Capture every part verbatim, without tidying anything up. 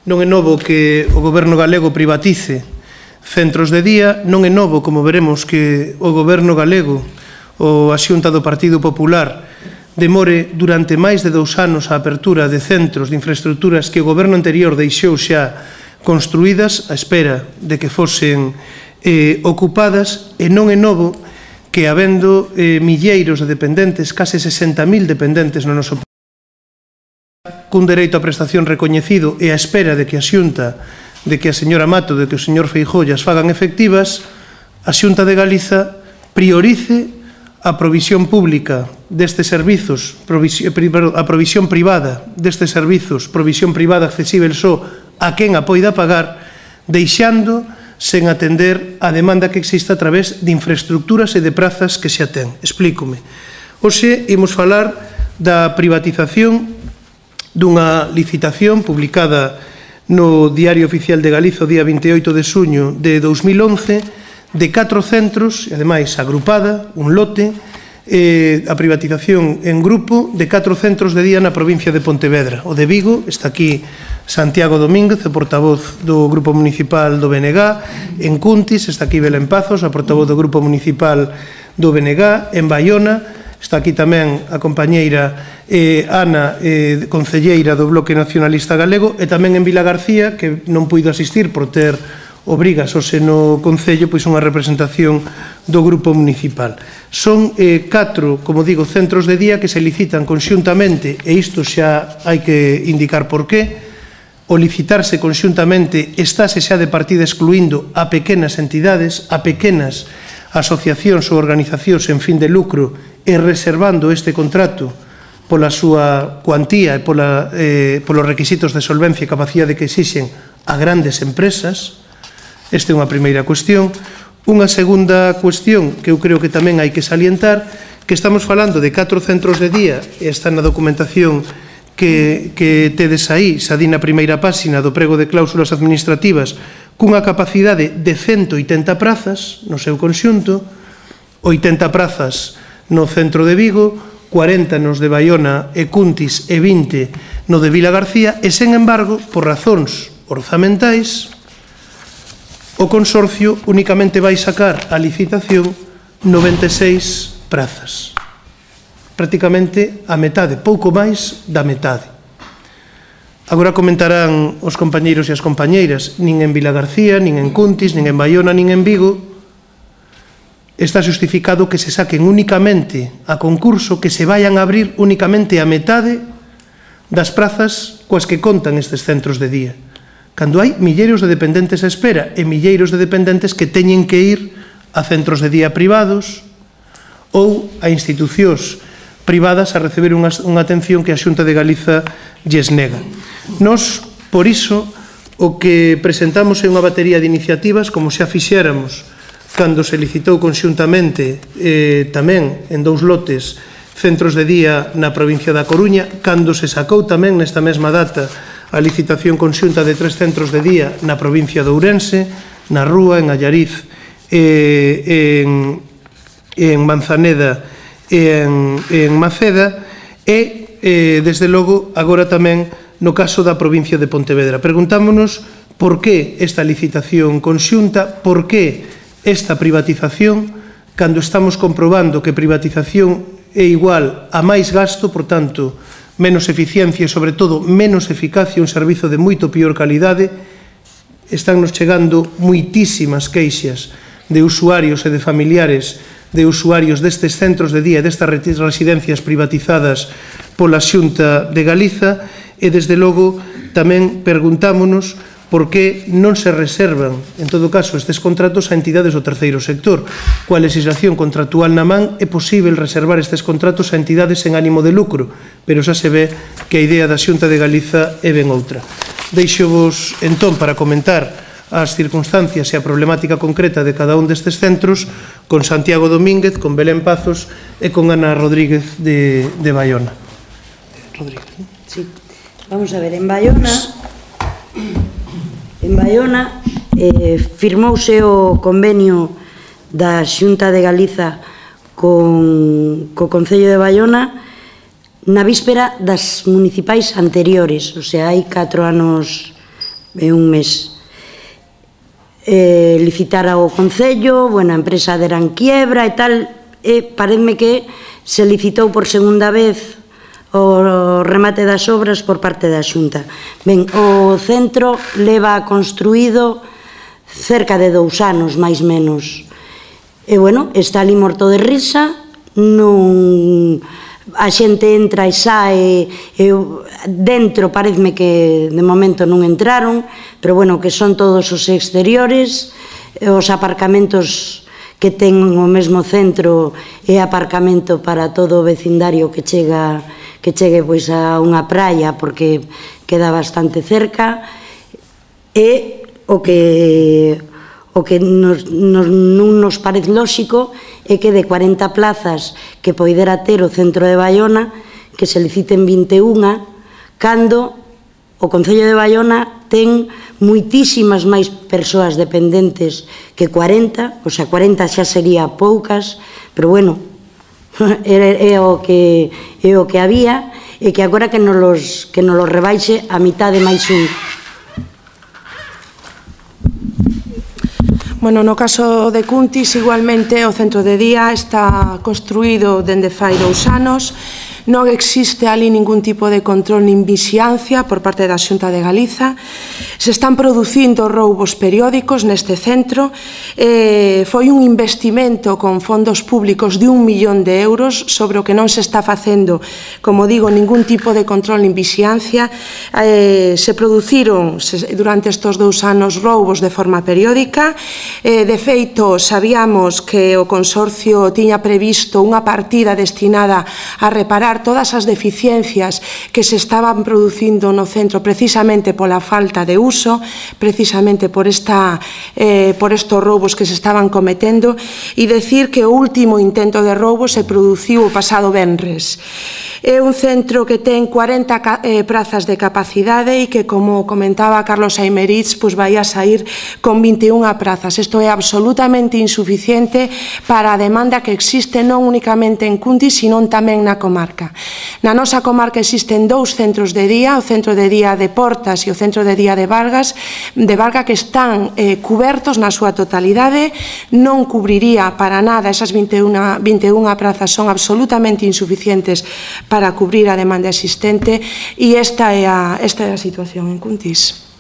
Non é novo que o goberno galego privatice centros de día, non é novo, como veremos, que o goberno galego, ou a Xunta do Partido Popular, demore durante máis de dous anos a apertura de centros de infraestructuras que o goberno anterior deixou xa construídas a espera de que fosen eh, ocupadas, e non é novo que, habendo eh, milleiros de dependentes, case sesenta mil dependentes no noso país, cun dereito a prestación recoñecido e a espera de que a Xunta, de que a señora Mato, de que o señor Feijóo as fagan efectivas, a Xunta de Galiza priorice a provisión pública destes servizos, a provisión privada destes servizos, provisión privada accesible só a quen a poida pagar, deixando sen atender a demanda que existe a través de infraestructuras e de prazas que xa ten. Explícome. Hoxe imos falar da privatización dunha licitación publicada no Diario Oficial de Galiza o día vinte e oito de xuño de dous mil once de catro centros, e ademais agrupada, un lote, eh, a privatización en grupo de catro centros de día na provincia de Pontevedra. O de Vigo, está aquí Santiago Domínguez, o portavoz do Grupo Municipal do B N G. En Cuntis está aquí Belén Pazos, a portavoz do Grupo Municipal do B N G. En Baiona está aquí tamén a compañeira eh, Ana, eh, concelleira do Bloque Nacionalista Galego, e tamén en Vilagarcía, que non puido asistir por ter obrigas ao seno Concello, pois unha representación do Grupo Municipal. Son eh, catro, como digo, centros de día que se licitan conxuntamente, e isto xa hai que indicar por qué. O licitarse conxuntamente estáse xa de partida excluindo a pequenas entidades, a pequenas asociacións ou organizacións en fin de lucro, e reservando este contrato pola súa cuantía e pola, eh, polos requisitos de solvencia e capacidade que exixen a grandes empresas. Esta é unha primeira cuestión. Unha segunda cuestión que eu creo que tamén hai que salientar, que estamos falando de catro centros de día, e está na documentación que, que tedes aí, xa di na primeira páxina do prego de cláusulas administrativas, cunha capacidade de cento oitenta prazas no seu conxunto, oitenta prazas no centro de Vigo, cuarenta nos de Baiona e Cuntis e vinte no de Vilagarcía, e, sen embargo, por razóns orzamentais, o consorcio únicamente vai sacar a licitación noventa e seis prazas. Prácticamente a metade, pouco máis da metade. Agora comentarán os compañeiros e as compañeiras, nin en Vilagarcía, nin en Cuntis, nin en Baiona, nin en Vigo, está justificado que se saquen únicamente a concurso, que se vayan a abrir únicamente a metade das prazas coas que contan estes centros de día, cando hai milleiros de dependentes a espera e milleiros de dependentes que teñen que ir a centros de día privados ou a institucións privadas a receber unha, unha atención que a Xunta de Galiza lles nega. Nos, por iso, o que presentamos é unha batería de iniciativas, como xa fixéramos cando se licitou conxuntamente eh, tamén en dous lotes centros de día na provincia da Coruña, cando se sacou tamén nesta mesma data a licitación conxunta de tres centros de día na provincia de Ourense, na Rúa, en Allariz, eh, en, en Manzaneda e en, en Maceda, e, eh, desde logo, agora tamén no caso da provincia de Pontevedra. Preguntámonos por que esta licitación conxunta, por que esta privatización, cando estamos comprobando que privatización é igual a máis gasto, por tanto, menos eficiencia e, sobre todo, menos eficacia, un servizo de moito pior calidade. Estánnos chegando moitísimas queixas de usuarios e de familiares de usuarios destes centros de día e destas residencias privatizadas pola Xunta de Galiza, e, desde logo, tamén preguntámonos por que non se reservan, en todo caso, estes contratos a entidades do terceiro sector. Coa legislación contractual na man é posible reservar estes contratos a entidades en ánimo de lucro, pero xa se ve que a idea da Xunta de Galiza é ben outra. Deixo-vos, entón, para comentar as circunstancias e a problemática concreta de cada un destes centros con Santiago Domínguez, con Belén Pazos e con Ana Rodríguez de, de Baiona. Rodríguez. Sí. Vamos a ver, en Baiona... En Baiona eh, firmouse o convenio da Xunta de Galiza con co Concello de Baiona na víspera das municipais anteriores, o sea, hai catro anos é un mes. Eh, licitara o Concello, bueno, a empresa dera en quiebra e tal, e pareceme que se licitou por segunda vez o remate das obras por parte da Xunta. Ben, o centro leva construído cerca de dous anos, máis menos. E, bueno, está ali morto de risa, non... a xente entra e sae, e dentro pareceme que de momento non entraron, pero, bueno, que son todos os exteriores, os aparcamentos que ten o mesmo centro e aparcamento para todo o vecindario que chega que chegue pois a unha praia, porque queda bastante cerca, e o que o que nos, nos, non nos parece lóxico é que de cuarenta plazas que poidera ter o centro de Baiona, que se liciten vinte e unha, cando o Concello de Baiona ten moitísimas máis persoas dependentes que cuarenta, o sea, cuarenta xa sería poucas, pero, bueno, é o que é o que había, e que agora que nos los, que nos los rebaixe a mitade máis un. Bueno, no caso de Cuntis, igualmente, o centro de día está construído dende fai dous anos. Non existe ali ningún tipo de control nin vixiancia por parte da Xunta de Galiza. Se están producindo roubos periódicos neste centro. Eh, foi un investimento con fondos públicos de un millón de euros sobre o que non se está facendo, como digo, ningún tipo de control nin vixiancia. Eh, se produciron se, durante estes dous anos roubos de forma periódica. Eh, de feito, sabíamos que o Consorcio tiña previsto unha partida destinada a reparar todas as deficiencias que se estaban producindo no centro precisamente pola falta de uso, precisamente por, esta, eh, por estos roubos que se estaban cometendo, e decir que o último intento de roubo se produciu o pasado venres. É un centro que ten cuarenta eh, prazas de capacidade e que, como comentaba Carlos Aymerich, pues vai a sair con vinte e unha prazas. Isto é absolutamente insuficiente para a demanda que existe non únicamente en Cuntis, sino tamén na comarca. Na nosa comarca existen dous centros de día, o centro de día de Portas e o centro de día de Valgas, de Valga, que están eh, cubertos na súa totalidade. Non cubriría para nada, esas vinte e unha prazas son absolutamente insuficientes para cubrir a demanda existente, e esta é a, esta é a situación en Cuntis.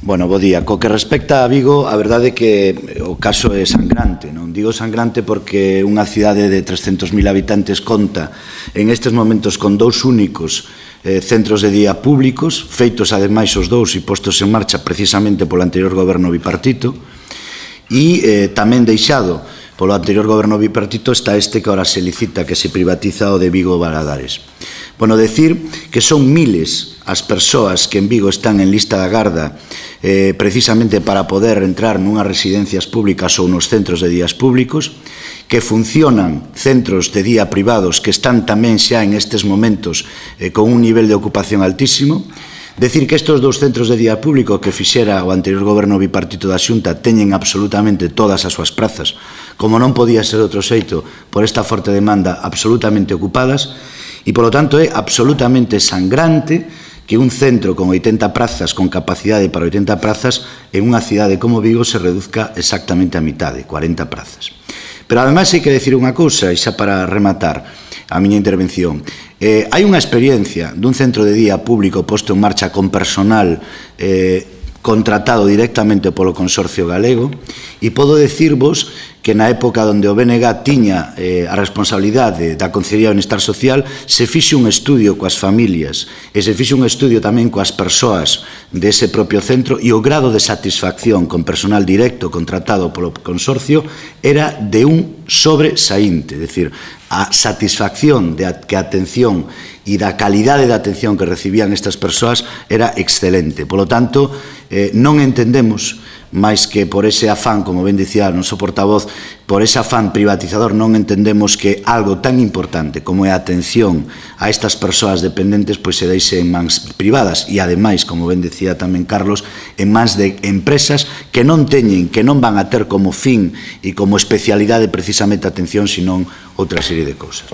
Bueno, bo día. Co que respecta a Vigo, a verdade é que o caso é sangrante. Non digo sangrante porque unha cidade de trescentos mil habitantes conta en estes momentos con dous únicos eh, centros de día públicos, feitos ademais os dous e postos en marcha precisamente polo anterior goberno bipartito, e eh, tamén deixado polo anterior goberno bipartito está este que ahora se licita, que se privatiza, o de Vigo Valadares. Bueno, decir que son miles as persoas que en Vigo están en lista de agarda eh, precisamente para poder entrar nunhas residencias públicas ou nos centros de días públicos, que funcionan centros de día privados que están tamén xa en estes momentos eh, con un nivel de ocupación altísimo. Decir que estes dous centros de día público que fixera o anterior goberno bipartito da Xunta teñen absolutamente todas as súas prazas, como non podía ser outro xeito por esta forte demanda, absolutamente ocupadas, e, polo tanto, é absolutamente sangrante que un centro con oitenta prazas, con capacidade para oitenta prazas, en unha cidade como Vigo se reduzca exactamente a mitade, cuarenta prazas. Pero, ademais, hai que decir unha cousa, e xa para rematar a miña intervención. Eh, hai unha experiencia dun centro de día público posto en marcha con personal eh, contratado directamente polo Consorcio Galego, e podo decirvos que na época onde o B N G tiña eh, a responsabilidade da Consellería de Benestar Social, se fixe un estudio coas familias e se fixe un estudio tamén coas persoas dese propio centro, e o grado de satisfacción con personal directo contratado polo Consorcio era de un sobresaínte, é dicir, a satisfacción de que a atención e da calidade da atención que recibían estas persoas era excelente. Polo tanto, eh, non entendemos máis que por ese afán, como ben dicía o noso portavoz, por ese afán privatizador, non entendemos que algo tan importante como é a atención a estas persoas dependentes pois se deixe en mans privadas e, ademais, como ben dicía tamén Carlos, en mans de empresas que non teñen, que non van a ter como fin e como especialidade precisamente a atención, senón outra serie de cousas.